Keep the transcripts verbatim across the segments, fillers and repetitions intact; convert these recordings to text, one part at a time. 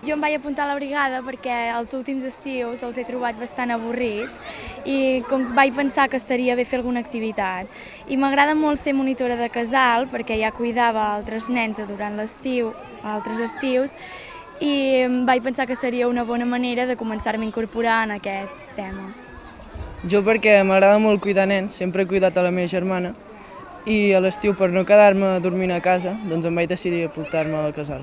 Jo em vaig apuntar a la brigada perquè els últims estius els he trobat bastant avorrits i com vaig pensar que estaria bé fer alguna activitat. I m'agrada molt ser monitora de casal perquè ja cuidava altres nens durant l'estiu, altres estius, i vaig pensar que seria una bona manera de començar-me a incorporar en aquest tema. Jo perquè m'agrada molt cuidar nens, sempre he cuidat a la meva germana i a l'estiu per no quedar-me dormint a casa doncs em vaig decidir apuntar-me al casal.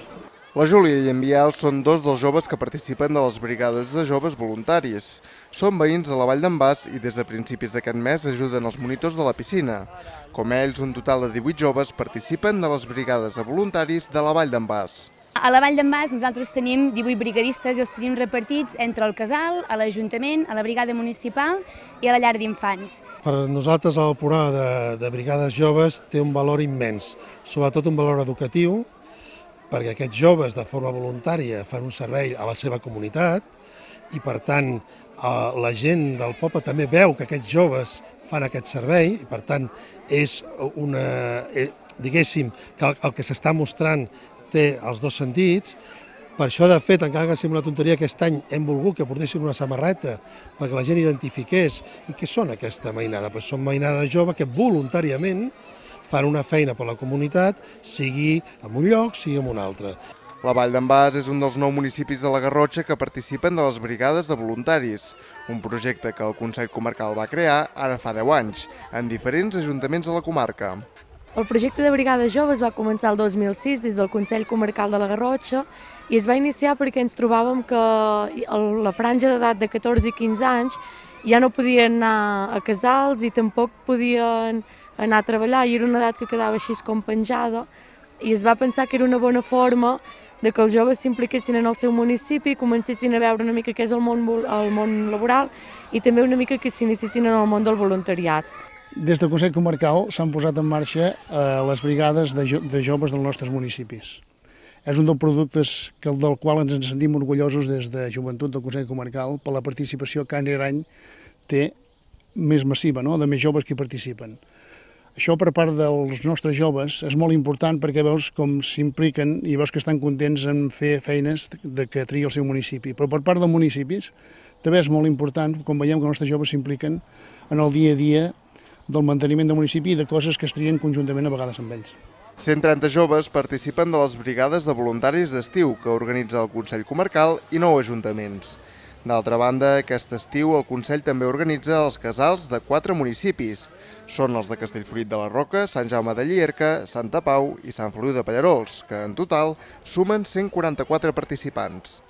La Júlia i en Biel són dos dels joves que participen de les brigades de joves voluntaris. Són veïns de la Vall d'en Bas i des de principis d'aquest mes ajuden els monitors de la piscina. Com ells, un total de divuit joves participen de les brigades de voluntaris de la Vall d'en Bas. A la Vall d'en Bas nosaltres tenim divuit brigadistes i els tenim repartits entre el casal, a l'Ajuntament, a la brigada municipal i a la llar d'infants. Per nosaltres el programa de, de brigades joves té un valor immens, sobretot un valor educatiu, perquè aquests joves de forma voluntària fan un servei a la seva comunitat i per tant la gent del poble també veu que aquests joves fan aquest servei i per tant és una, diguéssim, que el que s'està mostrant té els dos sentits. Per això, de fet, encara que sembla una tonteria, aquest any hem volgut que portessin una samarreta perquè la gent identifiqués i què són aquesta mainada. Pues són mainades joves que voluntàriament fan una feina per la comunitat, sigui en un lloc, sigui en un altre. La Vall d'en Bas és un dels nou municipis de la Garrotxa que participen de les brigades de voluntaris, un projecte que el Consell Comarcal va crear ara fa deu anys, en diferents ajuntaments de la comarca. El projecte de Brigades Joves va començar el dos mil sis des del Consell Comarcal de la Garrotxa i es va iniciar perquè ens trobàvem que la franja d'edat de catorze i quinze anys ja no podien anar a casals i tampoc podien anar a treballar i era una edat que quedava així com penjada i es va pensar que era una bona forma de que els joves s'impliquessin en el seu municipi, comencessin a veure una mica què és el món, el món laboral i també una mica que s'iniciessin en el món del voluntariat. Des del Consell Comarcal s'han posat en marxa eh, les brigades de, jo, de joves dels nostres municipis. És un dels productes que, del qual ens en sentim orgullosos des de Joventut del Consell Comarcal per la participació que any rere any té més massiva, no? De més joves que hi participen. Això per part dels nostres joves és molt important perquè veus com s'impliquen i veus que estan contents en fer feines de que triï el seu municipi. Però per part dels municipis també és molt important, com veiem que els nostres joves s'impliquen en el dia a dia del manteniment del municipi i de coses que es trien conjuntament a vegades amb ells. cent trenta joves participen de les brigades de voluntaris d'estiu que organitza el Consell Comarcal i nou ajuntaments. D'altra banda, aquest estiu el Consell també organitza els casals de quatre municipis. Són els de Castellfollit de la Roca, Sant Jaume de Llierca, Santa Pau i Sant Feliu de Pallerols, que en total sumen cent quaranta-quatre participants.